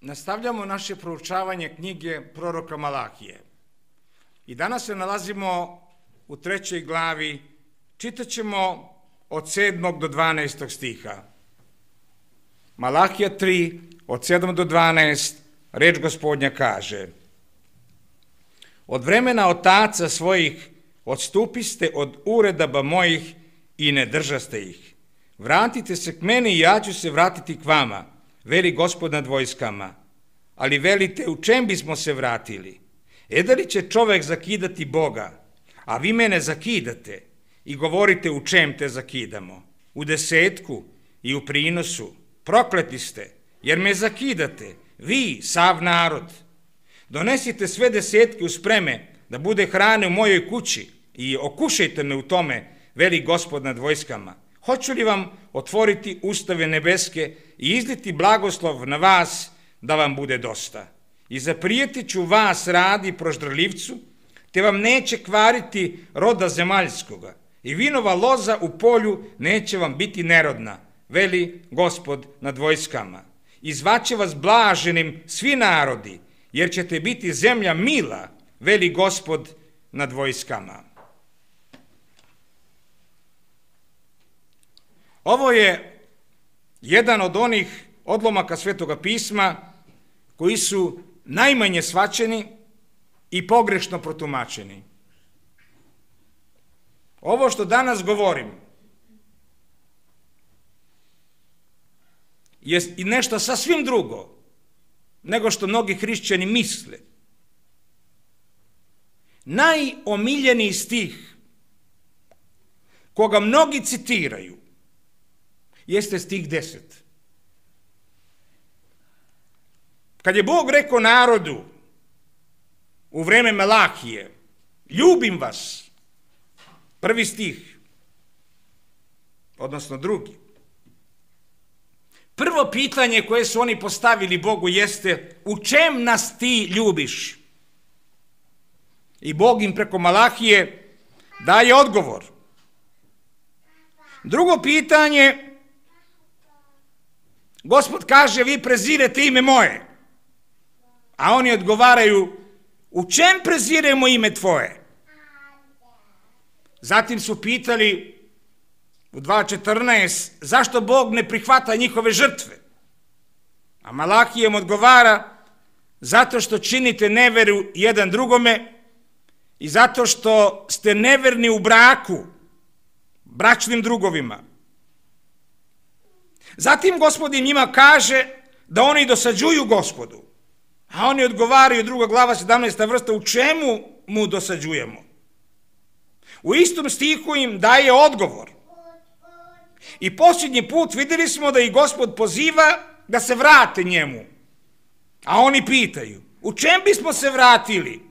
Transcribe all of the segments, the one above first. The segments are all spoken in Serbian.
Nastavljamo naše proučavanje knjige proroka Malahije. I danas se nalazimo u 3. glavi, čitat ćemo od 7. do 12. stiha. Malahija 3, od 7 do 12, reč Gospodnja kaže: Od vremena otaca svojih odstupiste od uredaba mojih i ne držaste ih. Vratite se k meni i ja ću se vratiti k vama, veli Gospod nad vojskama. Ali velite, u čem bismo se vratili? Da li će čovek zakidati Boga, a vi mene zakidate i govorite u čem te zakidamo? U desetku i u prinosu. Prokleti ste, jer me zakidate, vi, sav narod. Donesite sve desetke u spreme, da bude hrane u mojoj kući i okušajte me u tome, veli Gospod nad vojskama. Hoću li vam otvoriti ustave nebeske i izliti blagoslov na vas, da vam bude dosta? I zaprijetit ću vas radi proždraljivcu, te vam neće kvariti roda zemaljskoga, i vinova loza u polju neće vam biti nerodna, veli Gospod nad vojskama. I zvaće vas blaženim svi narodi, jer ćete biti zemlja mila, veli Gospod nad vojskama. Ovo je jedan od onih odlomaka Svetoga pisma koji su najmanje shvaćeni i pogrešno protumačeni. Ovo što danas govorim je i nešto sasvim drugo nego što mnogi hrišćani misle. Najomiljeniji stih koga mnogi citiraju jeste stih 10. Kad je Bog rekao narodu u vreme Malahije: ljubim vas, prvi stih, odnosno drugi. Prvo pitanje koje su oni postavili Bogu jeste: u čem nas ti ljubiš? I Bog im preko Malahije daje odgovor. Drugo pitanje, Gospod kaže: vi prezirete ime moje. A oni odgovaraju: u čem preziremo ime tvoje? Zatim su pitali u 2.14 zašto Bog ne prihvata njihove žrtve? A Malahija im odgovara: zato što činite neveru jedan drugome i zato što ste neverni u braku, bračnim drugovima. Zatim Gospod im njima kaže da oni dosađuju Gospodu. A oni odgovaraju, 2. glava 17. vrsta, u čemu mu dosađujemo? U istom stihu im daje odgovor. I posljednji put vidjeli smo da i Gospod poziva da se vrate njemu. A oni pitaju: u čem bismo se vratili?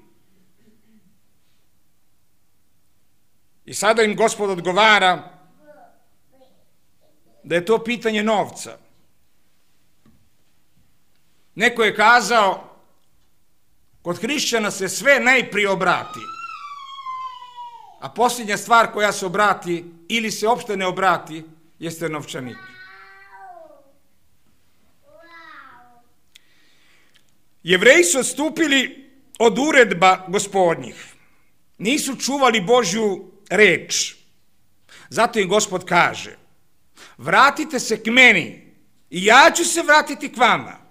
I sada im Gospod odgovara da je to pitanje novca. Neko je kazao: kod hrišćana se sve najprije obrati, a posljednja stvar koja se obrati ili se uopšte ne obrati jeste novčanik. Jevreji su odstupili od uredba Gospodnjih. Nisu čuvali Božju reč. Zato im Gospod kaže: vratite se k meni i ja ću se vratiti k vama.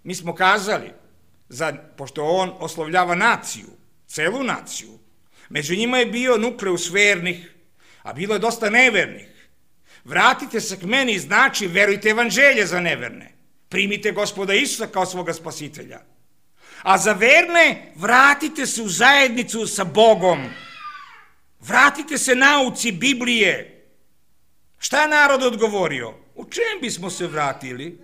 Mi smo kazali, pošto on oslovljava naciju, celu naciju, među njima je bio nukleus vernih, a bilo je dosta nevernih. Vratite se k meni znači verujte evanđelje za neverne. Primite Gospoda Isusa kao svoga spasitelja. A za verne vratite se u zajednicu sa Bogom. Vratite se nauci Biblije. Šta je narod odgovorio? U čem bismo se vratili?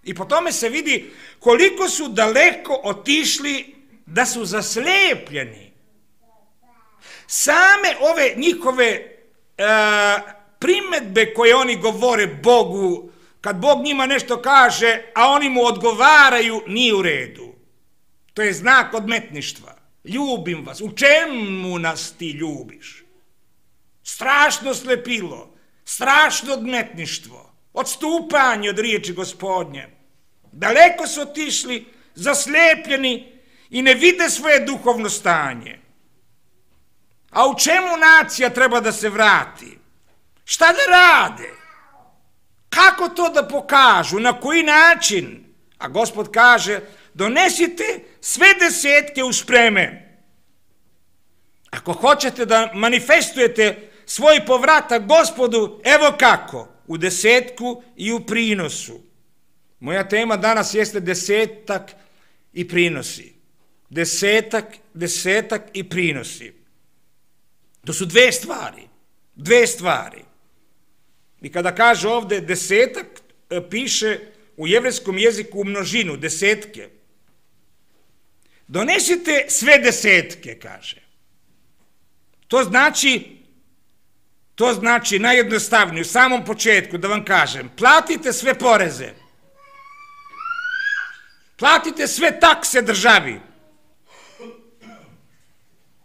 I po tome se vidi koliko su daleko otišli da su zaslepljeni. Same ove njihove primedbe koje oni govore Bogu, kad Bog njima nešto kaže, a oni mu odgovaraju, nije u redu. To je znak odmetništva. Ljubim vas. U čemu nas ti ljubiš? Strašno slepilo, strašno odmetništvo, odstupanje od riječi Gospodnje. Daleko su otišli, zaslijepljeni i ne vide svoje duhovno stanje. A u čemu nacija treba da se vrati? Šta da rade? Kako to da pokažu? Na koji način? A Gospod kaže, donesite sve desetke u spreme. Ako hoćete da manifestujete svoj povratak Gospodu, evo kako, u desetku i u prinosu. Moja tema danas jeste desetak i prinosi. Desetak i prinosi. To su dve stvari. I kada kaže ovde desetak, piše u jevrejskom jeziku u množinu, desetke. Donesite sve desetke, kaže. To znači najjednostavnije, u samom početku da vam kažem, platite sve poreze, platite sve takse državi.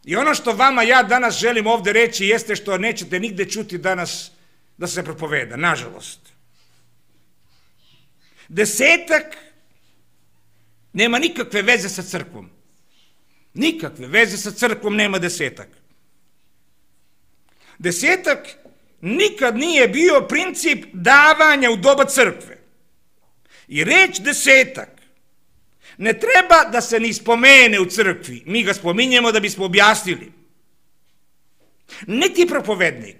I ono što vama ja danas želim ovde reći jeste što nećete nigde čuti danas da se propoveda, nažalost. Desetak nema nikakve veze sa crkvom. Nikakve veze sa crkvom nema desetak. Desetak nikad nije bio princip davanja u doba crkve. I reč desetak ne treba da se ni spomene u crkvi. Mi ga spominjemo da bismo objasnili. Niti propovednik,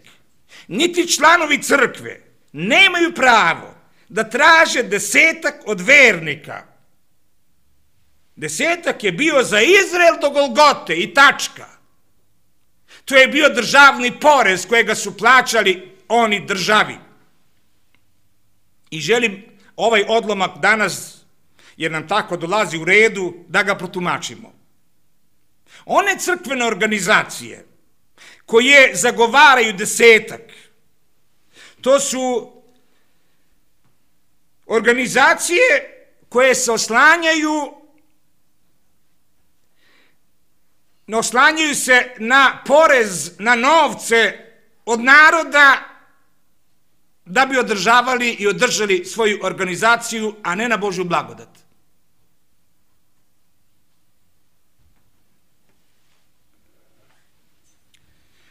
niti članovi crkve nemaju pravo da traže desetak od vernika. Desetak je bio za Izrael do Golgote i tačka. To je bio državni porez kojega su plaćali oni državi. I želim ovaj odlomak danas, jer nam tako dolazi u redu, da ga protumačimo. One crkvene organizacije koje zagovaraju desetak, to su organizacije koje se oslanjaju se na porez, na novce od naroda da bi održavali i održali svoju organizaciju, a ne na Božju blagodat.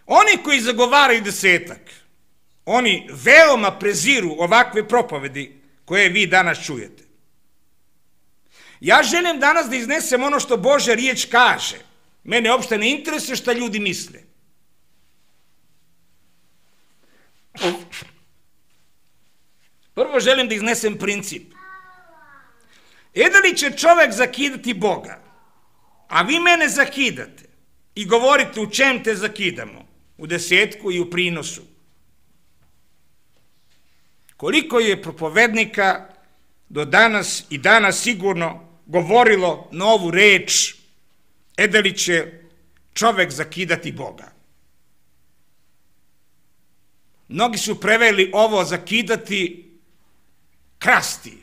Oni koji zagovaraju desetak, oni veoma preziru ovakve propovedi koje vi danas čujete. Ja želim danas da iznesem ono što Božja riječ kaže. Mene uopšte ne interesuje šta ljudi misle. Prvo želim da iznesem princip. Da li će čovek zakidati Boga, a vi mene zakidate i govorite u čem te zakidamo? U desetku i u prinosu. Koliko je propovednika do danas i danas sigurno govorilo na ovu reč, da li će čovek zakidati Boga? Mnogi su preveli ovo zakidati krasti.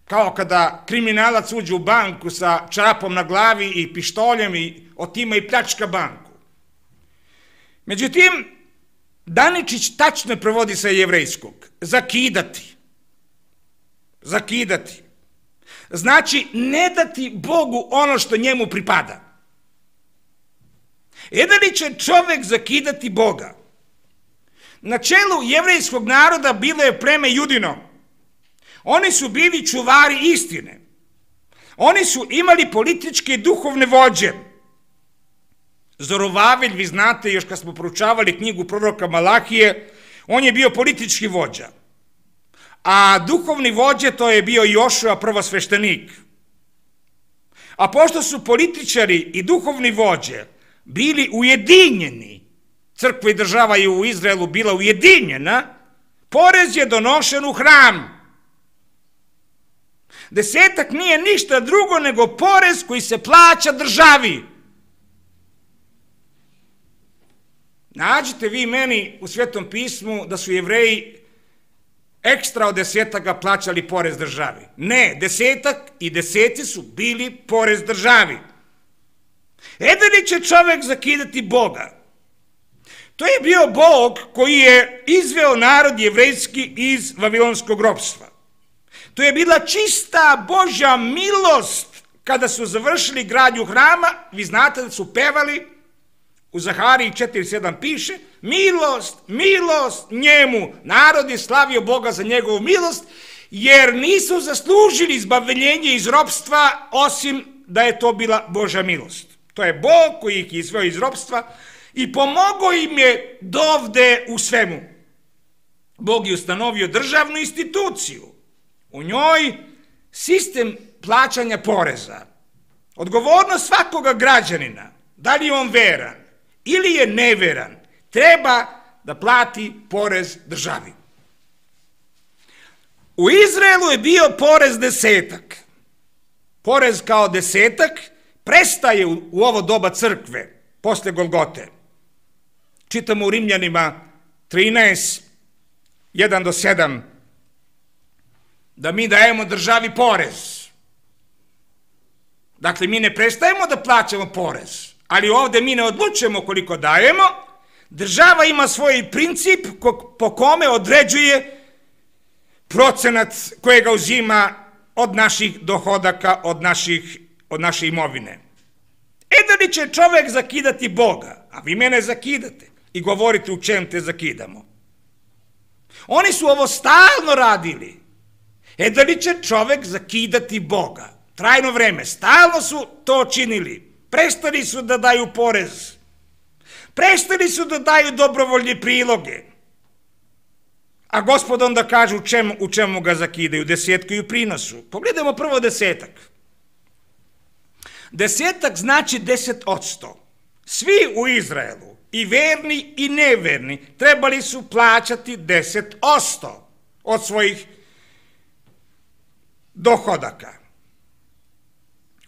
Kao kada kriminalac uđe u banku sa čarapom na glavi i pištoljem i otima i pljačka banku. Međutim, Daničić tačno prevodi sa jevrejskog. Zakidati. Zakidati. Znači, ne dati Bogu ono što njemu pripada. Da li će čovek zakidati Boga? Na čelu jevrejskog naroda bilo je pleme Judino. Oni su bili čuvari istine. Oni su imali političke i duhovne vođe. Zorovavelj, vi znate, još kad smo proučavali knjigu proroka Malahije, on je bio politički vođa. A duhovni vođe, to je bio Jošua, prvosveštenik. A pošto su političari i duhovni vođe bili ujedinjeni, crkva i država je u Izraelu bila ujedinjena, porez je donošen u hram. Desetak nije ništa drugo nego porez koji se plaća državi. Nađite vi meni u Svetom pismu da su Jevreji ekstra od desetaka plaćali porez državi. Ne, desetak i deseci su bili porez državi. Da li će čovek zakidati Boga? To je bio Bog koji je izveo narod jevrejski iz vavilonskog ropstva. To je bila čista Božja milost kada su završili gradnju hrama. Vi znate da su pevali, u Zahariji 4:7 piše, milost, milost njemu. Narod je slavio Boga za njegovu milost, jer nisu zaslužili izbavljenje iz ropstva, osim da je to bila Božja milost. To je Bog koji ih izveo iz ropstva i pomogao im je dovde u svemu. Bog je ustanovio državnu instituciju. U njoj sistem plaćanja poreza. Odgovornost svakoga građanina, da li je on veran ili je neveran, treba da plati porez državi. U Izraelu je bio porez desetak. Porez kao desetak prestaje u ovo doba crkve, posle Golgote. Čitamo u Rimljanima 13, 1-7, da mi dajemo državi porez. Dakle, mi ne prestajemo da plaćamo porez, ali ovde mi ne odlučujemo koliko dajemo. Država ima svoj princip po kome određuje procenat kojega uzima od naših dohodaka, od naše imovine. Da li će čovek zakidati Boga? A vi mene zakidate i govorite u čem te zakidamo. Oni su ovo stalno radili. Da li će čovek zakidati Boga? Trajno vreme, stalno su to činili. Prestali su da daju porez. Prestali su da daju dobrovoljne priloge. A Gospod onda kaže u čemu ga zakidaju, desetku i u prinosu. Pogledajmo prvo desetak. Desetak znači 10%. Svi u Izraelu, i verni i neverni, trebali su plaćati 10% od svojih dohodaka.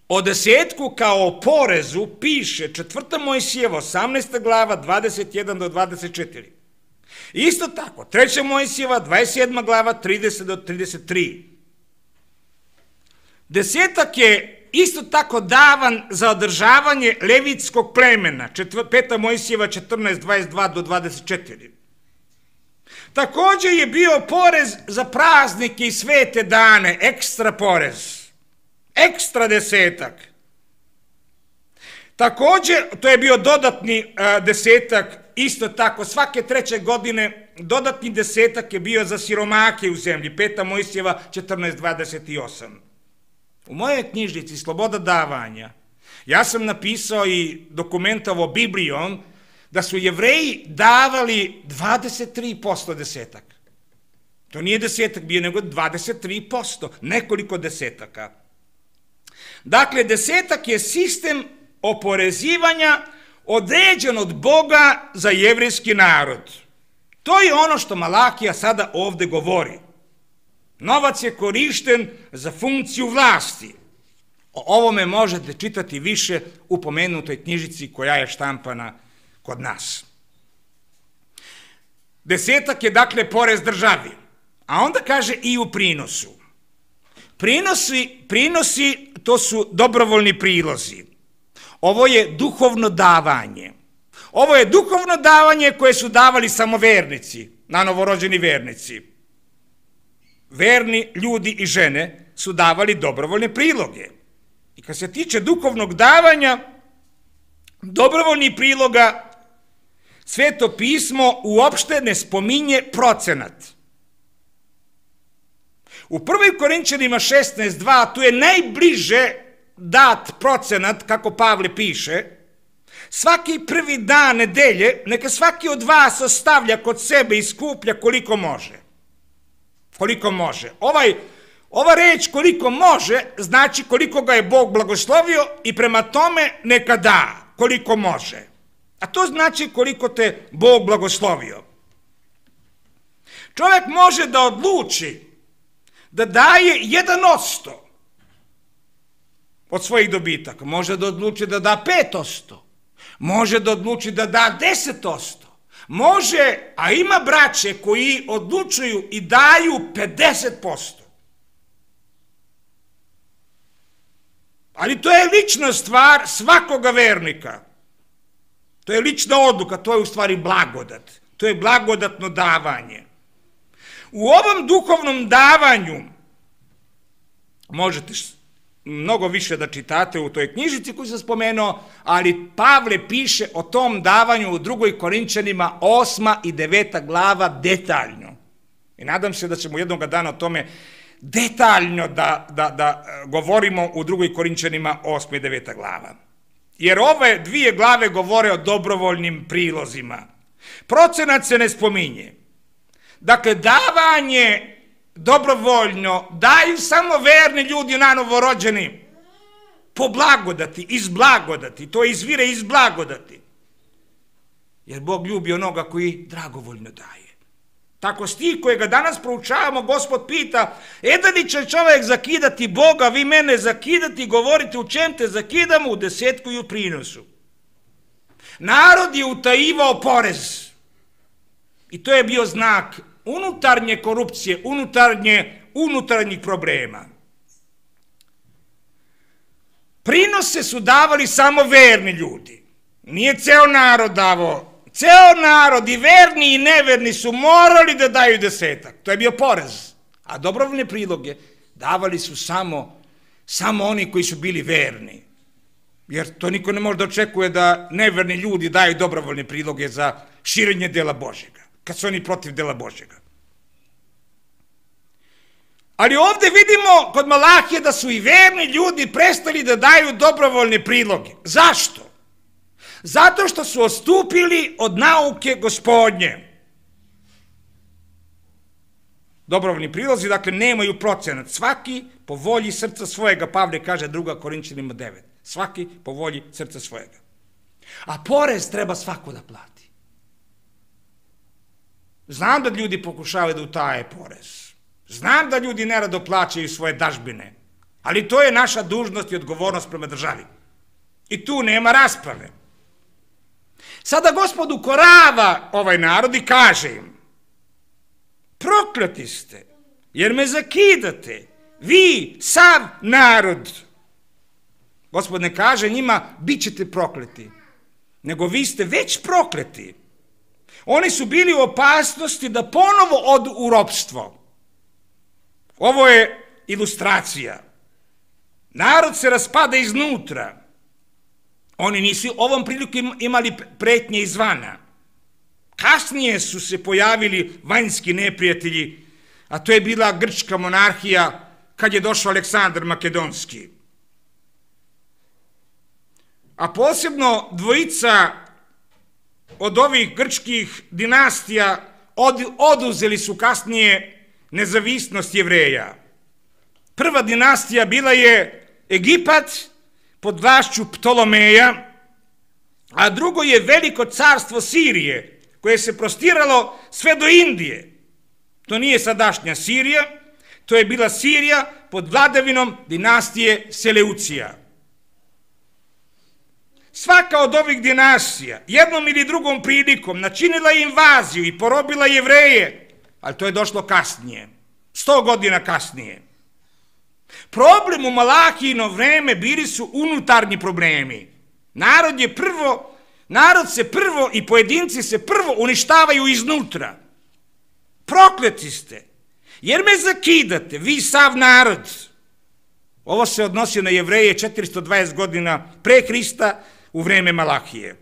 O desetku kao porezu piše 4. Mojsijeva 18. glava 21-24. Isto tako, 3. Mojsijeva 27. glava 30-33. Desetak je isto tako davan za održavanje levitskog plemena, 5. Mojsijeva 14:22-24. Također je bio porez za praznike i svete dane, ekstra porez, ekstra desetak. Također, to je bio dodatni desetak, isto tako, svake 3. godine dodatni desetak je bio za siromake u zemlji, 5. Mojsijeva 14:28. U mojoj knjižnici Sloboda davanja ja sam napisao i dokumentovao Biblijom da su Jevreji davali 23% desetak. To nije desetak bio, nego 23%, nekoliko desetaka. Dakle, desetak je sistem oporezivanja određen od Boga za jevrejski narod. To je ono što Malakija sada ovde govori. Novac je korišten za funkciju vlasti. O ovome možete čitati više u pomenutoj knjižici koja je štampana kod nas. Desetak je dakle porez državi, a onda kaže i u prinosu. Prinosi to su dobrovoljni prilozi. Ovo je duhovno davanje. Ovo je duhovno davanje koje su davali samo vernici, na novorođeni vernici. Verni ljudi i žene su davali dobrovoljne priloge. I kad se tiče duhovnog davanja, dobrovoljnih priloga, Sveto pismo uopšte ne spominje procenat. U 1. Korinćanima 16:2 tu je najbliže dat procenat, kako Pavle piše, svaki prvi dan nedelje, neka svaki od vas ostavlja kod sebe i skuplja koliko može. Koliko može. Ova reč koliko može znači koliko ga je Bog blagoslovio i prema tome neka da koliko može. A to znači koliko te Bog blagoslovio. Čovjek može da odluči da daje 1% od svojih dobitaka. Može da odluči da da 5%. Može da odluči da da 10%. Može, a ima braće koji odlučuju i daju 50%. Ali to je lična stvar svakoga vernika. To je lična odluka, to je u stvari blagodat. To je blagodatno davanje. U ovom duhovnom davanju možete mnogo više da čitate u toj knjižici koju sam spomenuo, ali Pavle piše o tom davanju u 2. Korinčanima 8. i 9. glava detaljno. I nadam se da ćemo jednog dana o tome detaljno da govorimo u 2. Korinčanima 8. i 9. glava. Jer ove 2 glave govore o dobrovoljnim prilozima. Procenat se ne spominje. Dakle, davanje dobrovoljno daju samo verni ljudi nanovorođeni po blagodati, iz blagodati. To izvire iz blagodati. Jer Bog ljubi onoga koji dragovoljno daje. Tako stih kojega danas proučavamo, Gospod pita, da li će čovjek zakidati Boga, vi mene zakidati, govorite u čem te zakidamo, u desetku i u prinosu. Narod je utajivao porez. I to je bio znak unutarnje korupcije, unutarnjih problema. Prinose su davali samo verni ljudi. Nije ceo narod davao. Ceo narod, i verni i neverni, su morali da daju desetak. To je bio porez. A dobrovoljne priloge davali su samo oni koji su bili verni. Jer to niko ne može da očekuje da neverni ljudi daju dobrovoljne priloge za širenje dela Božjega, kad su oni protiv dela Božjega. Ali ovde vidimo kod Malahije da su i verni ljudi prestali da daju dobrovoljne priloge. Zašto? Zato što su odstupili od nauke Gospodnje. Dobrovoljni prilozi, dakle, nemaju procenat. Svaki po volji srca svojega, Pavle kaže 2. Korinčanima 9. Svaki po volji srca svojega. A porez treba svako da plati. Znam da ljudi pokušavaju da utaje porez. Znam da ljudi nerado plaćaju svoje dažbine. Ali to je naša dužnost i odgovornost prema državi. I tu nema rasprave. Sada Gospod ukorava ovaj narod i kaže im, prokleti ste, jer me zakidate, vi, sav narod. Gospod ne kaže njima, bit ćete prokleti, nego vi ste već prokleti. Oni su bili u opasnosti da ponovo odu u ropstvo. Ovo je ilustracija. Narod se raspada iznutra. Oni nisu ovom prilikom imali pretnje izvana. Kasnije su se pojavili vanjski neprijatelji, a to je bila grčka monarhija kad je došao Aleksandar Makedonski. A posebno dvojica od ovih grčkih dinastija oduzeli su kasnije nezavisnost Jevreja. Prva dinastija bila je Egipat pod vlašću Ptolomeja, a drugo je veliko carstvo Sirije, koje se prostiralo sve do Indije. To nije sadašnja Sirija, to je bila Sirija pod vladavinom dinastije Seleucija. Svaka od ovih dinastija jednom ili drugom prilikom načinila je invaziju i porobila Jevreje, ali to je došlo kasnije, 100 godina kasnije. Problem u Malahijino vreme bili su unutarnji problemi. Narod se prvo i pojedinci se prvo uništavaju iznutra. Prokleti ste, jer me zakidate, vi sav narod. Ovo se odnosi na Jevreje 420 godina pre Hrista u vreme Malahije.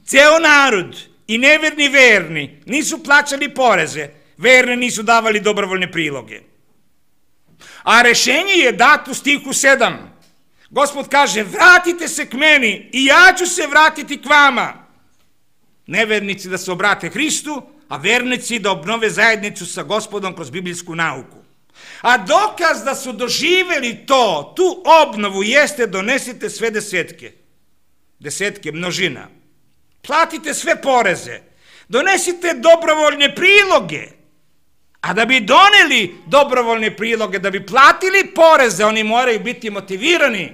Ceo narod i neverni verni nisu plaćali poreze, verni nisu davali dobrovoljne priloge. A rešenje je dato u stihu 7. Gospod kaže, vratite se k meni i ja ću se vratiti k vama. Nevernici da se obrate Hristu, a vernici da obnove zajednicu sa Gospodom kroz biblijsku nauku. A dokaz da su doživeli tu obnovu jeste donesite sve desetke. Desetke, množina. Platite sve poreze. Donesite dobrovoljne priloge. A da bi doneli dobrovoljne priloge, da bi platili poreze, oni moraju biti motivirani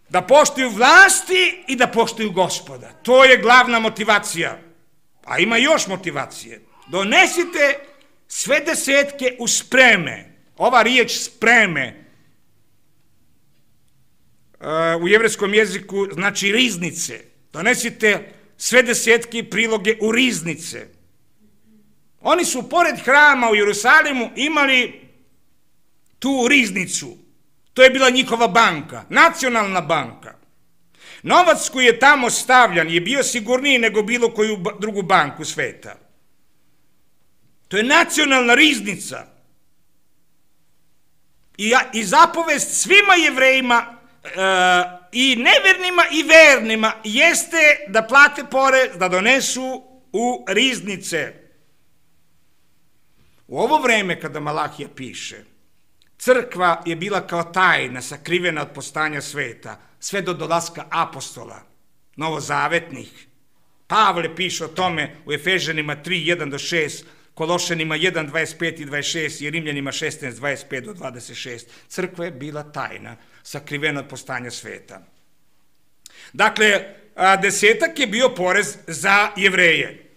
da poštuju vlasti i da poštuju Gospoda. To je glavna motivacija. A ima još motivacije. Donesite sve desetke u spreme. Ova riječ spreme u jevrejskom jeziku znači riznice. Donesite sve desetke i priloge u riznice. Oni su pored hrama u Jerusalimu imali tu riznicu. To je bila njihova banka, nacionalna banka. Novac koji je tamo stavljan je bio sigurniji nego bilo koju drugu banku sveta. To je nacionalna riznica. I zapovest svima Jevrejima, i nevernima i vernima, jeste da plate porez, da donesu u riznice. U ovo vreme kada Malahija piše, crkva je bila kao tajna, sakrivena od postanja sveta, sve do dolaska apostola, novozavetnih. Pavle piše o tome u Efežanima 3:1-6, Kološanima 1:25 i 26 i Rimljanima 16:25-26. Crkva je bila tajna, sakrivena od postanja sveta. Dakle, 10 je bio porez za Jevreje.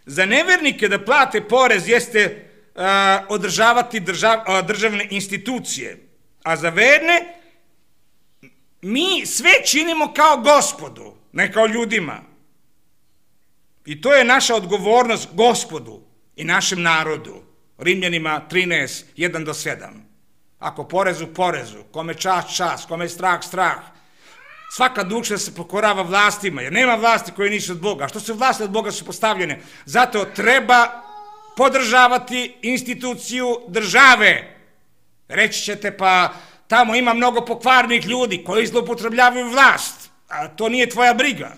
Za nevernike da plate porez jeste održavati državne institucije, a za verne mi sve činimo kao Gospodu, ne kao ljudima. I to je naša odgovornost Gospodu i našem narodu. Rimljanima 13:1-7. Ako porezu, porezu, kome čast, čast, kome strah, strah. Svaka duša se pokorava vlastima, jer nema vlasti koje nisu od Boga. A što su vlasti od Boga su postavljene? Zato treba podržavati instituciju države. Reći ćete, pa tamo ima mnogo pokvarnih ljudi koji zloupotrebljavaju vlast. A to nije tvoja briga.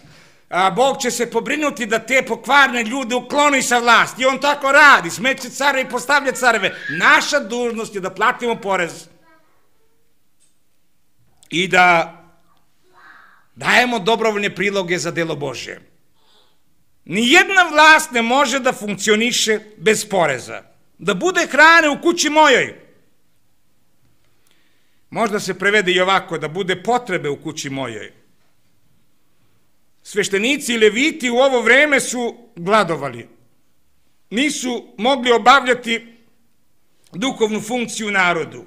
A Bog će se pobrinuti da te pokvarne ljude ukloni sa vlasti. I on tako radi, smeće care i postavlja careve. Naša dužnost je da platimo porez i da dajemo dobrovoljne priloge za delo Božje. Nijedna vlast ne može da funkcioniše bez poreza. Da bude hrane u kući mojoj. Možda se prevede i ovako, da bude potrebe u kući mojoj. Sveštenici i leviti u ovo vreme su gladovali. Nisu mogli obavljati duhovnu funkciju u narodu.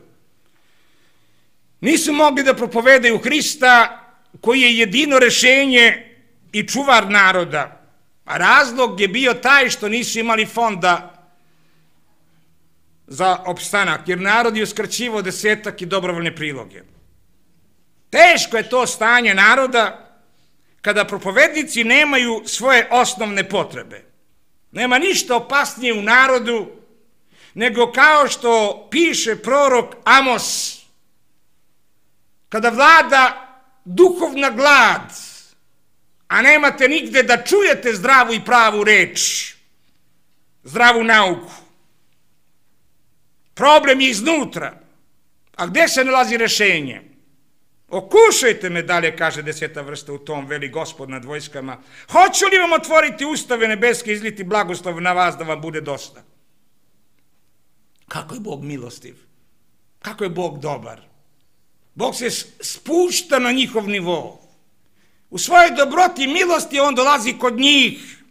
Nisu mogli da propovedaju Hrista koji je jedino rešenje i čuvar naroda. A razlog je bio taj što nisu imali fonda za opstanak, jer narod je uskraćivao 10 i dobrovoljne priloge. Teško je to stanje naroda kada propovednici nemaju svoje osnovne potrebe. Nema ništa opasnije u narodu nego kao što piše prorok Amos, kada vlada duhovna glad, a nemate nigde da čujete zdravu i pravu reč, zdravu nauku. Problem je iznutra. A gde se nalazi rešenje? Okušajte me, dalje kaže 10. vrsta u tom, veli Gospod nad vojskama. Hoću li vam otvoriti ustave nebeske i izliti blagoslov na vas da vam bude dosta? Kako je Bog milostiv? Kako je Bog dobar? Bog se spušta na njihov nivo. U svojoj dobroti i milosti on dolazi kod njih.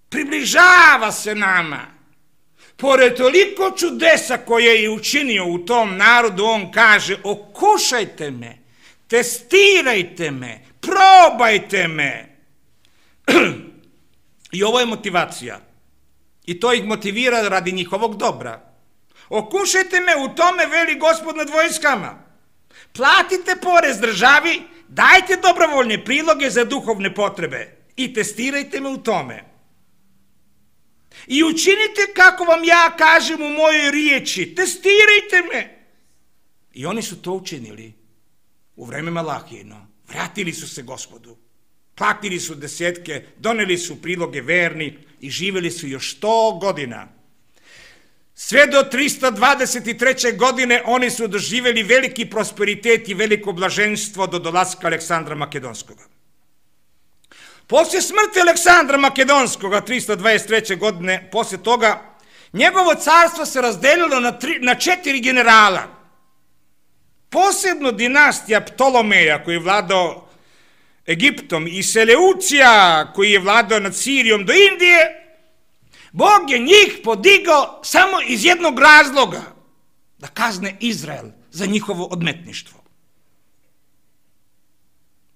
Približava se nama. Pored toliko čudesa koje je učinio u tom narodu, on kaže, okušajte me, testirajte me, probajte me. I ovo je motivacija. I to ih motivira radi njihovog dobra. Okušajte me, u tome veli Gospod nad vojskama. Platite porez državi, dajte dobrovoljne priloge za duhovne potrebe i testirajte me u tome. I učinite kako vam ja kažem u mojoj riječi, testirajte me. I oni su to učinili u vreme Malahijino. Vratili su se Gospodu, platili su 10, doneli su priloge verni i živjeli su još 100 godina. Sve do 323. godine oni su doživjeli veliki prosperitet i veliko blaženstvo do dolaska Aleksandra Makedonskoga. Poslije smrti Aleksandra Makedonskoga 323. godine, poslije toga, njegovo carstvo se razdelilo na 4 generala. Posebno dinastija Ptolomeja koji je vladao Egiptom i Seleucija koji je vladao nad Sirijom do Indije, Bog je njih podigao samo iz jednog razloga, da kazne Izrael za njihovo odmetništvo.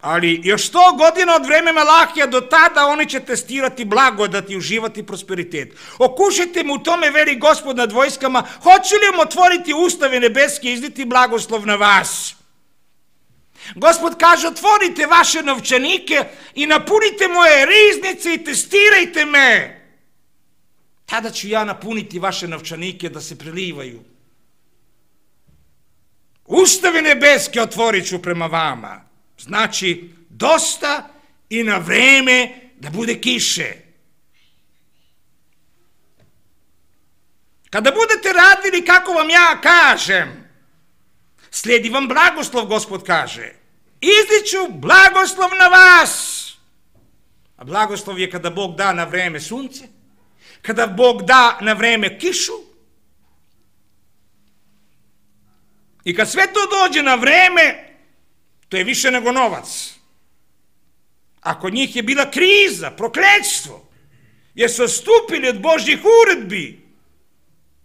Ali još 100 godina od vremena Malahija do tada oni će testirati blagodat i uživati prosperitet. Okušajte mu u tome, veli Gospod nad vojskama, hoće li vam otvoriti ustave nebeske i izniti blagoslov na vas? Gospod kaže, otvorite vaše novčanike i napunite moje riznice i testirajte me. Tada ću ja napuniti vaše novčanike da se prelivaju. Ustave nebeske otvorit ću prema vama. Znači, dosta i na vreme da bude kiše. Kada budete radili kako vam ja kažem, slijedi vam blagoslov, Gospod kaže. Izliću blagoslov na vas. A blagoslov je kada Bog da na vreme sunce, kada Bog da na vreme kišu. I kad sve to dođe na vreme, to je više nego novac. A kod njih je bila kriza, prokletstvo, jer su odstupili od Božjih uredbi.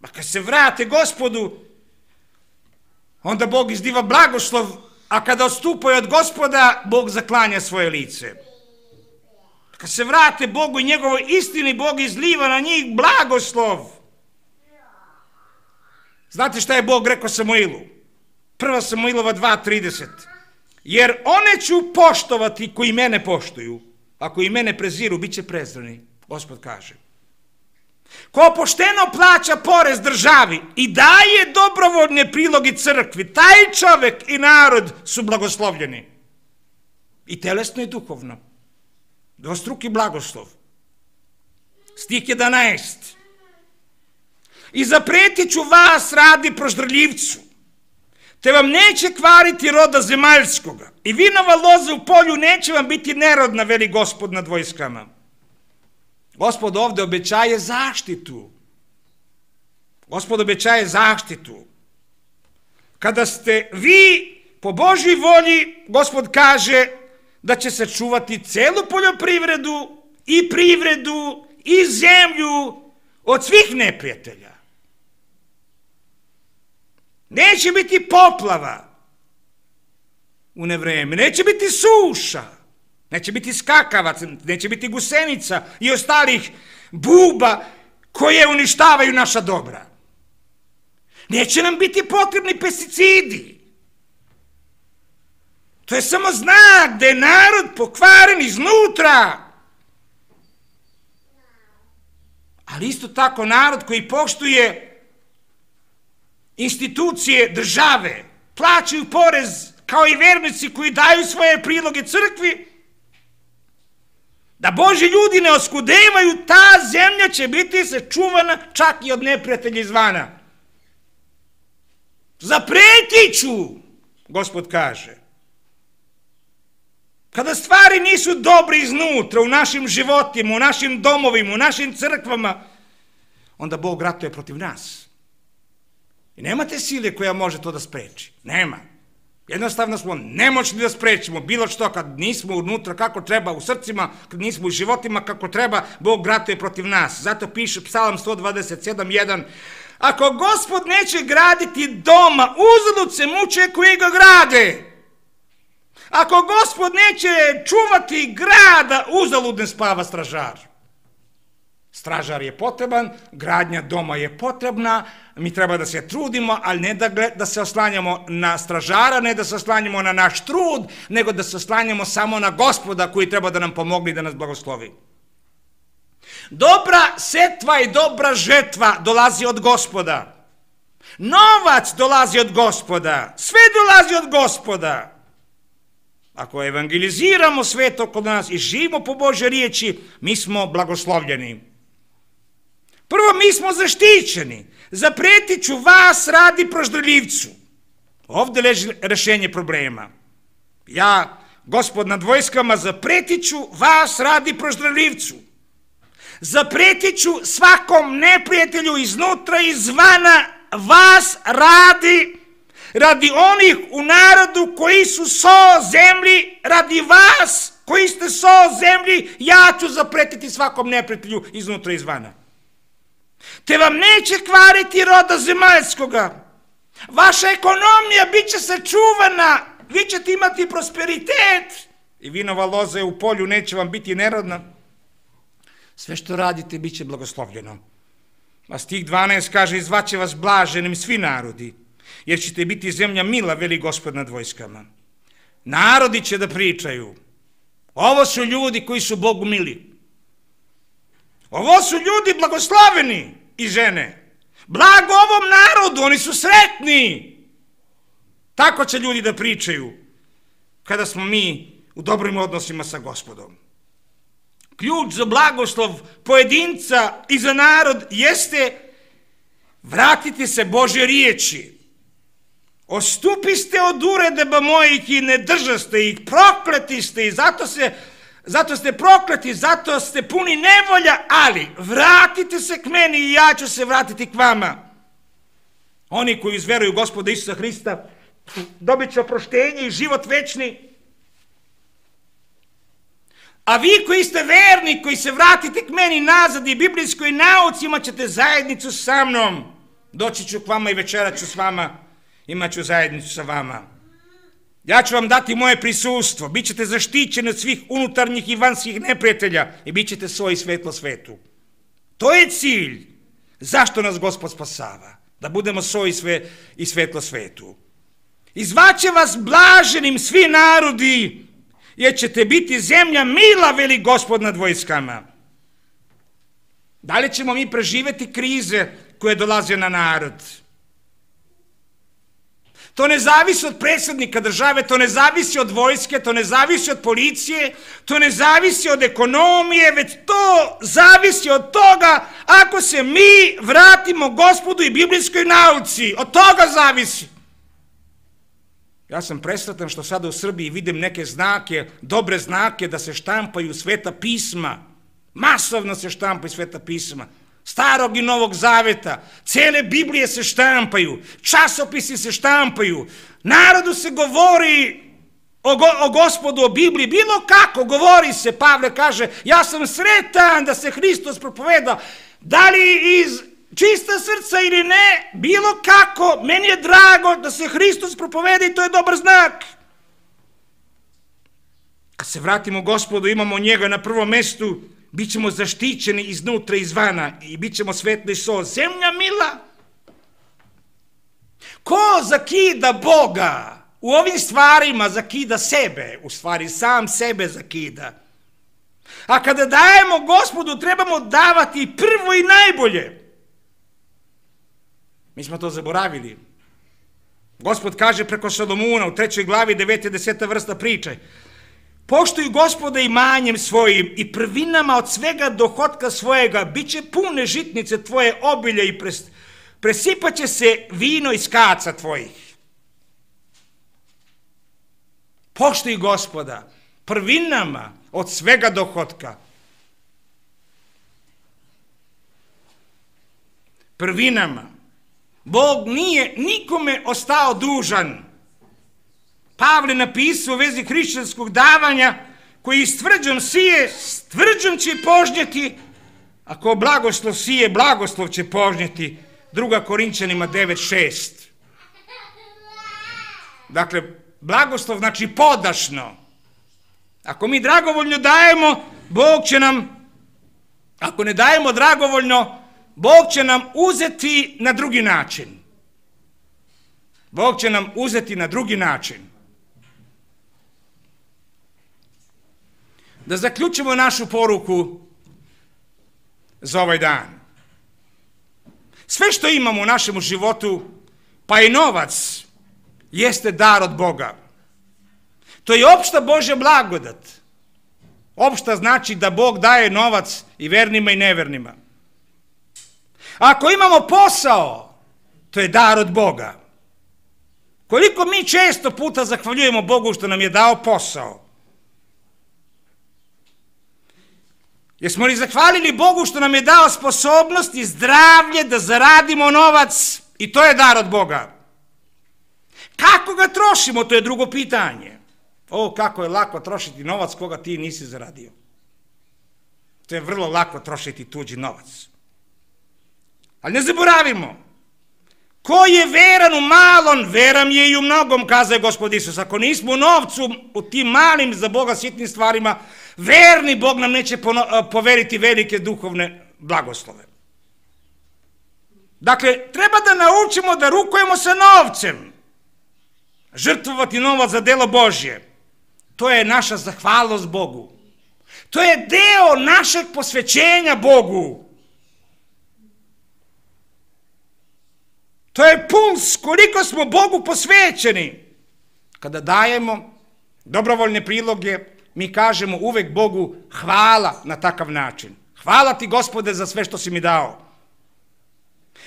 A kad se vrate Gospodu, onda Bog izdiva blagoslov, a kada odstupaju od Gospoda, Bog zaklanja svoje lice. Kad se vrate Bogu i njegovoj istini, Bog izliva na njih blagoslov. Znate šta je Bog rekao Samuilu? 1. Samuilova 2:30. Jer one ću poštovati koji mene poštuju, a koji mene preziru, bit će prezreni, Gospod kaže. Ko pošteno plaća porez državi i daje dobrovoljne priloge crkvi, taj čovek i narod su blagoslovljeni. I telesno i duhovno. Dvostruki blagoslov. Stih 11. I zapretit ću vas radi proždrljivcu, te vam neće kvariti roda zemaljskoga i vinova loza u polju neće vam biti nerodna, veli Gospod nad vojskama. Gospod ovde obećaje zaštitu. Gospod obećaje zaštitu. Kada ste vi po Božjoj volji, Gospod kaže da će sačuvati celu poljoprivredu i privredu i zemlju od svih neprijatelja. Neće biti poplava u nevreme, neće biti suša, neće biti skakavaca, neće biti gusenica i ostalih buba koje uništavaju naša dobra. Neće nam biti potrebni pesticidi. To je samo znak da je narod pokvaren iznutra. Ali isto tako narod koji poštuje institucije države, plaćaju porez kao i vernici koji daju svoje priloge crkvi, da Božji ljudi ne oskudevaju, ta zemlja će biti sačuvana čak i od neprijatelja izvana. Zapretit ću, Gospod kaže. Kada stvari nisu dobre iznutra, u našim životima, u našim domovima, u našim crkvama, onda Bog ratuje protiv nas. I nemate sile koja može to da spreči. Nema. Jednostavno smo nemoćni da sprečimo bilo što kad nismo unutra kako treba, u srcima, kad nismo u životima kako treba, Bog ratuje protiv nas. Zato piše Psalam 127:1. Ako Gospod neće graditi doma, uzalud se muče koji ga grade. Ako Gospod neće čuvati grada, uzalud ne spava stražar. Stražar je potreban, gradnja doma je potrebna, mi treba da se trudimo, ali ne da se oslanjamo na stražara, ne da se oslanjamo na naš trud, nego da se oslanjamo samo na Gospoda koji treba da nam pomogne i da nas blagoslovi. Dobra setva i dobra žetva dolazi od Gospoda. Novac dolazi od Gospoda. Sve dolazi od Gospoda. Ako evangeliziramo svet oko nas i živimo po Božje riječi, mi smo blagoslovljeni. Prvo, mi smo zaštićeni. Zapretit ću vas radi proždrljivcu. Ovdje leži rešenje problema. Ja, Gospod nad vojskama, zapretit ću vas radi proždrljivcu. Zapretit ću svakom neprijatelju iznutra i izvana vas radi onih u narodu koji su so zemlji, radi vas koji ste so zemlji, ja ću zapretiti svakom neprijatelju iznutra i izvana. Te vam neće kvariti roda zemaljskoga. Vaša ekonomija bit će sačuvana, vi ćete imati prosperitet, i vinova loza je u polju, neće vam biti nerodna. Sve što radite bit će blagoslovljeno. A stih 12 kaže, i zvaće vas blaženim svi narodi, jer ćete biti zemlja mila, veli Gospod nad vojskama. Narodi će da pričaju. Ovo su ljudi koji su Bogu mili. Ovo su ljudi blagosloveni i žene. Blago ovom narodu, oni su sretni. Tako će ljudi da pričaju kada smo mi u dobrim odnosima sa Gospodom. Ključ za blagoslov pojedinca i za narod jeste vratiti se Božje riječi. Ostupiste od uredaba mojih i ne držaste ih, prokleti ste i zato ste prokleti, zato ste puni nevolja, ali vratite se k meni i ja ću se vratiti k vama. Oni koji izveruju Gospoda Isusa Hrista dobit će oproštenje i život večni. A vi koji ste verni, koji se vratite k meni nazad i biblijskoj nauci, imat ćete zajednicu sa mnom. Doći ću k vama i večerat ću s vama, imat ću zajednicu sa vama. Ja ću vam dati moje prisustvo, bit ćete zaštićeni od svih unutarnjih i vanjskih neprijatelja i bit ćete svoj svetlo svetu. To je cilj. Zašto nas Gospod spasava? Da budemo svoj i svetlo svetu. I zvaće vas blaženim svi narodi, jer ćete biti zemlja mila, veli Gospod nad vojskama. Da li ćemo mi preživjeti krize koje dolaze na narod? To ne zavisi od predsjednika države, to ne zavisi od vojske, to ne zavisi od policije, to ne zavisi od ekonomije, već to zavisi od toga ako se mi vratimo Gospodu i biblijskoj nauci. Od toga zavisi. Ja sam presretan što sada u Srbiji vidim neke znake, dobre znake da se štampaju sveta pisma. Masovno se štampaju sveta pisma. Starog i Novog Zaveta. Cele Biblije se štampaju. Časopisi se štampaju. Narodu se govori o Gospodu, o Bibliji. Bilo kako govori se. Pavle kaže, ja sam sretan da se Hristos propoveda. Da li iz čista srca ili ne, bilo kako, meni je drago da se Hristos propoveda i to je dobar znak. Kad se vratimo Gospodu, imamo njega na prvom mestu, bit ćemo zaštićeni iznutra i izvana i bit ćemo svetli so. Zemlja mila. Ko zakida Boga u ovim stvarima, zakida sebe, u stvari sam sebe zakida. A kada dajemo Gospodu, trebamo davati prvo i najbolje. Mi smo to zaboravili. Gospod kaže preko Solomuna u 3. glavi 9. i 10. vrsta priče. Poštuj Gospoda imanjem svojim i prvinama od svega dohotka svojega, bit će pune žitnice tvoje obilje i presipat će se vino iz kaca tvojih. Poštuj Gospoda prvinama od svega dohotka. Prvinama. Bog nije nikome ostao dužan. Pavle napisao u vezi hrišćanskog davanja, koji s tvrđom sije, s tvrđom će požnjeti, a ko blagoslov sije, blagoslov će požnjeti. 2. Korinćanima 9.6. Dakle, blagoslov znači podašno. Ako mi dragovoljno dajemo, Bog će nam, ako ne dajemo dragovoljno, Bog će nam uzeti na drugi način. Bog će nam uzeti na drugi način. Da zaključimo našu poruku za ovaj dan. Sve što imamo u našem životu, pa i novac, jeste dar od Boga. To je opšta Božja blagodat. Opšta znači da Bog daje novac i vernima i nevernima. Ako imamo posao, to je dar od Boga. Koliko mi često puta zahvaljujemo Bogu što nam je dao posao? Jesmo li zahvalili Bogu što nam je dao sposobnost i zdravlje da zaradimo novac i to je dar od Boga? Kako ga trošimo, to je drugo pitanje. Kako je lako trošiti novac koga ti nisi zaradio. To je vrlo lako trošiti tuđi novac. Ali ne zaboravimo, Ko je veran u malom, veran je i u mnogom, kazao je Gospod Isus. Ako nismo u novcu, u tim malim za Boga sitnim stvarima, verni Bog nam neće poveriti velike duhovne blagoslove. Dakle, treba da naučimo da rukujemo sa novcem. Žrtvovati novac za delo Božje. To je naša zahvalnost Bogu. To je deo našeg posvećenja Bogu. To je puls koliko smo Bogu posvećeni. Kada dajemo dobrovoljne priloge, mi kažemo uvek Bogu hvala na takav način. Hvala ti, Gospode, za sve što si mi dao.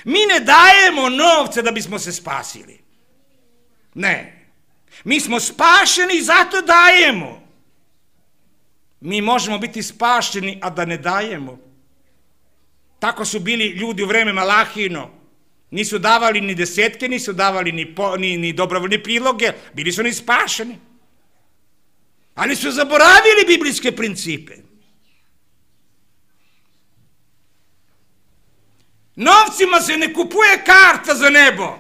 Mi ne dajemo novce da bismo se spasili. Ne. Mi smo spašeni i zato dajemo. Mi možemo biti spašeni, a da ne dajemo. Tako su bili ljudi u vreme Malahijino. Nisu davali ni desetke, nisu davali ni dobrovoljne priloge, bili su ni spašeni. Ali su zaboravili biblijske principe. Novcima se ne kupuje karta za nebo.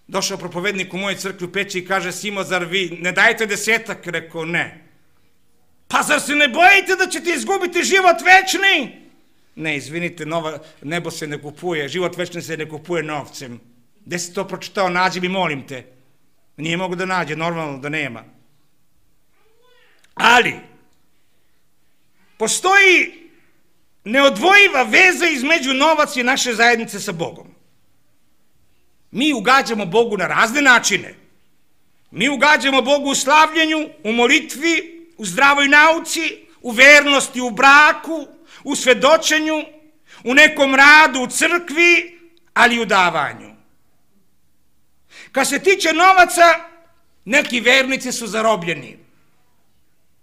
Došao propovednik u mojoj crkvi u Peći i kaže: Simo, zar vi ne dajete desetak? Rekao, ne. Pa zar se ne bojite da ćete izgubiti život večni? Ne, izvinite, nebo se ne kupuje, život večni se ne kupuje novcem. Gde si to pročitao? Nađi mi, molim te. Nije mogu da nađe, normalno da nema. Ali, postoji neodvojiva veza između novaca i naše zajednice sa Bogom. Mi ugađamo Bogu na razne načine. Mi ugađamo Bogu u slavljenju, u molitvi, u zdravoj nauci, u vernosti, u braku, u svedočenju, u nekom radu, u crkvi, ali i u davanju. Kad se tiče novaca, neki vernici su zarobljeni.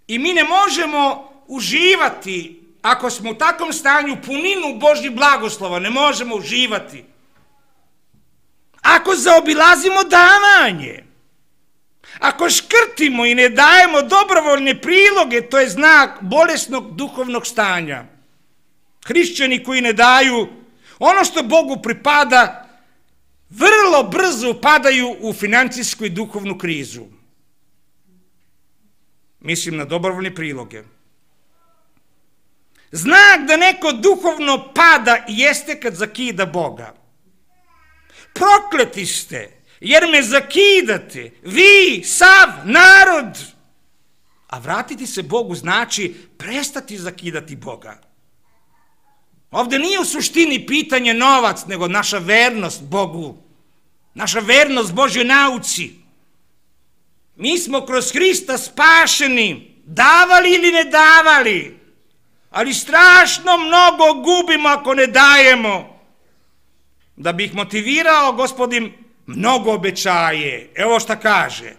I mi ne možemo uživati, ako smo u takvom stanju, puninu Božjih blagoslova, ne možemo uživati. Ako zaobilazimo davanje, ako škrtimo i ne dajemo dobrovoljne priloge, to je znak bolesnog duhovnog stanja. Hrišćani koji ne daju ono što Bogu pripada, vrlo brzo upadaju u finansijsku i duhovnu krizu. Mislim na dobrovoljne priloge. Znak da neko duhovno pada jeste kad zakida Boga. Prokleti ste, jer me zakidate, vi, sav narod. A vratiti se Bogu znači prestati zakidati Boga. Ovde nije u suštini pitanje novac, nego naša vernost Bogu. Naša vernost Božjoj nauci. Mi smo kroz Hrista spašeni, davali ili ne davali, ali strašno mnogo gubimo ako ne dajemo. Da bi ih motivirao, Gospodin mnogo obećaje. Evo šta kaže: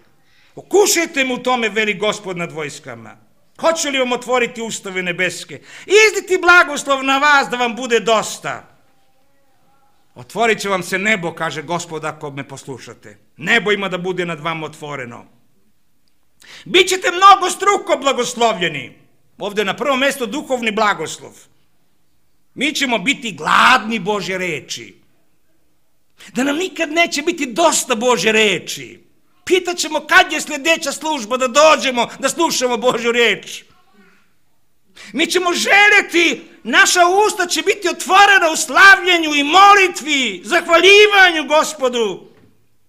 okušajte mu u tome, veli Gospod nad vojskama. Hoće li vam otvoriti ustave nebeske? Izditi blagoslov na vas da vam bude dosta. Otvorit će vam se nebo, kaže Gospod, ako me poslušate. Nebo ima da bude nad vama otvoreno. Bićete mnogo struko blagoslovljeni. Ovde na prvom mjestu duhovni blagoslov. Mi ćemo biti gladni Božje reči. Da nam nikad neće biti dosta Božje reči. Pitaćemo kad je sljedeća služba da dođemo da slušamo Božju reč. Mi ćemo željeti, naša usta će biti otvorena u slavljenju i molitvi, zahvaljivanju Gospodu.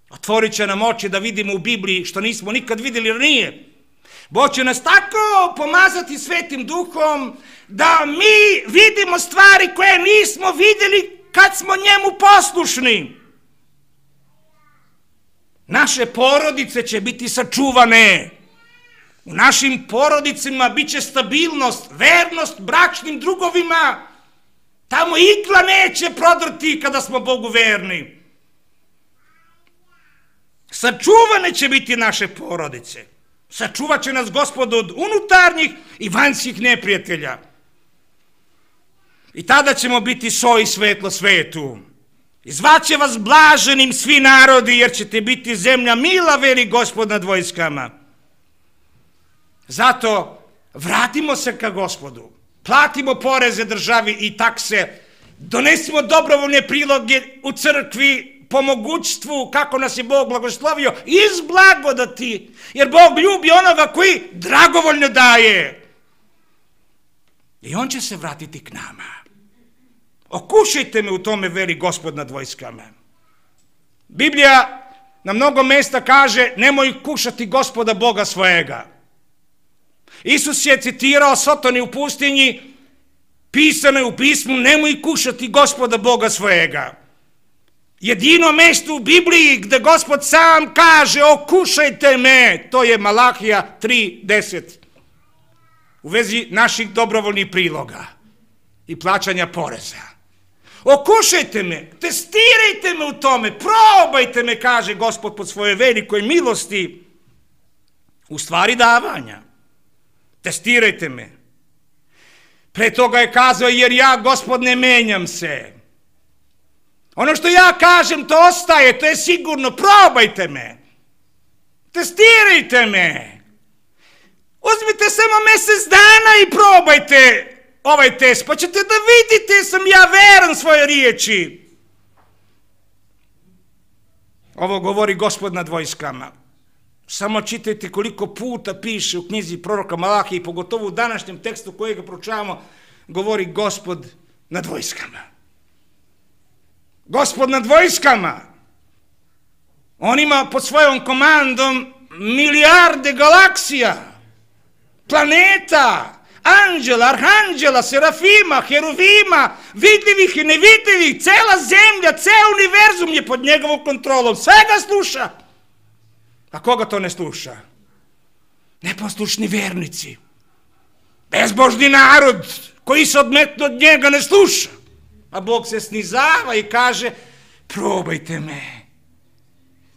Otvorit će nam oči da vidimo u Bibliji što nismo nikad vidjeli ranije. Bog će nas tako pomazati Svetim Duhom da mi vidimo stvari koje nismo vidjeli kad smo njemu poslušni. Naše porodice će biti sačuvane. U našim porodicama bit će stabilnost, vernost bračnim drugovima. Tamo igla neće prodrti kada smo Bogu verni. Sačuvane će biti naše porodice. Sačuvat će nas Gospod od unutarnjih i vanjskih neprijatelja. I tada ćemo biti so i svetlo svetu. I zvaće vas blaženim svi narodi, jer ćete biti zemlja mila, veli Gospod nad vojskama. Zato vratimo se ka Gospodu. Platimo poreze državi i takse donesimo dobrovoljne priloge u crkvi, po mogućstvu, kako nas je Bog blagoslovio, iz blagodati, jer Bog ljubi onoga koji dragovoljno daje. I on će se vratiti k nama. Okušajte me u tome, veli Gospod nad vojskama. Biblija na mnogo mjesta kaže, nemoj kušati Gospoda Boga svojega. Isus je citirao Sotoni u pustinji, pisano je u pismu, nemoj kušati Gospoda Boga svojega. Jedino mjesto u Bibliji gdje Gospod sam kaže, okušajte me, to je Malahija 3:10. U vezi naših dobrovoljnih priloga i plaćanja poreza. Okušajte me, testirajte me u tome, probajte me, kaže Gospod po svojoj velikoj milosti, u stvari davanja. Testirajte me. Pre toga je kazao, jer ja, Gospod, ne menjam se. Ono što ja kažem, to ostaje, to je sigurno, probajte me. Testirajte me. Uzmite samo mjesec dana i probajte ovaj test, pa ćete da vidite sam ja veran svoje riječi. Ovo govori Gospod nad vojskama. Samo čitajte koliko puta piše u knjizi proroka Malahije, pogotovo u današnjem tekstu kojega proučavamo, govori Gospod nad vojskama. Gospod nad vojskama. On ima pod svojom komandom milijarde galaksija, planeta, anđela, arhanđela, serafima, heruvima, vidljivih i nevidljivih, cela zemlja, ceo univerzum je pod njegovom kontrolom, sve ga sluša. A koga to ne sluša? Neposlušni vernici, bezbožni narod koji se odmetno od njega ne sluša. A Bog se snizava i kaže, probajte me.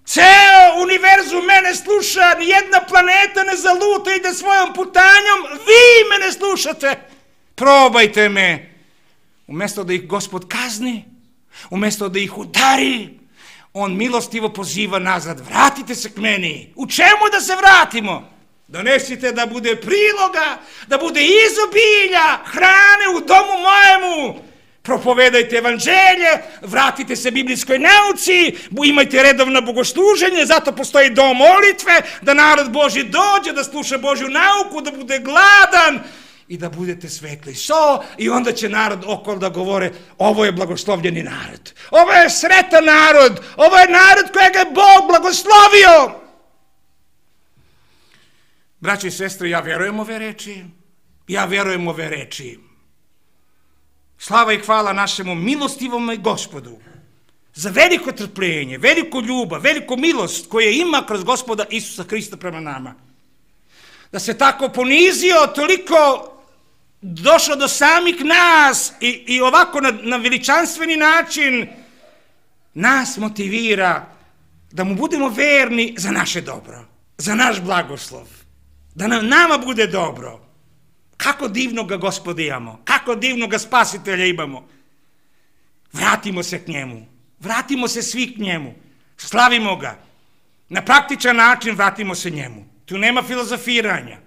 Ceo univerzum mene sluša, nijedna planeta ne zaluta, ide svojom putanjom, vi me ne slušate. Probajte me. Umjesto da ih Gospod kazni, umjesto da ih udari, on milostivo poziva nazad, vratite se k meni. U čemu da se vratimo? Donesite da bude priloga, da bude izobilja, hrane u domu mojemu. Propovedajte evanđelje, vratite se biblijskoj nauci, imajte redovno bogosluženje, zato postoji dom molitve, da narod Božji dođe, da sluša Božju nauku, da bude gladan i da budete svetli so, i onda će narod okolo da govore, ovo je blagoslovljeni narod, ovo je sretan narod, ovo je narod kojega je Bog blagoslovio. Braći i sestre, ja verujem ove reči. Slava i hvala našemu milostivom Gospodu za veliko trpljenje, veliku ljubav, veliku milost koje ima kroz Gospoda Isusa Hrista prema nama. Da se tako ponizio, toliko došao do samih nas i ovako na veličanstveni način nas motivira da mu budemo verni za naše dobro, za naš blagoslov, da nama bude dobro. Kako divnog Gospoda imamo, kako divnog Spasitelja imamo. Vratimo se k njemu, vratimo se svi k njemu, slavimo ga. Na praktičan način vratimo se njemu. Tu nema filozofiranja.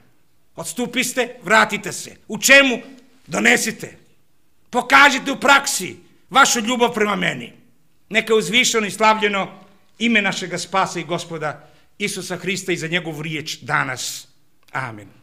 Odstupiste, vratite se. U čemu? Donesite. Pokažite u praksi vašu ljubav prema meni. Neka uzvišeno i slavljeno ime našega Spasa i Gospoda Isusa Hrista i za njegovu riječ danas. Amen.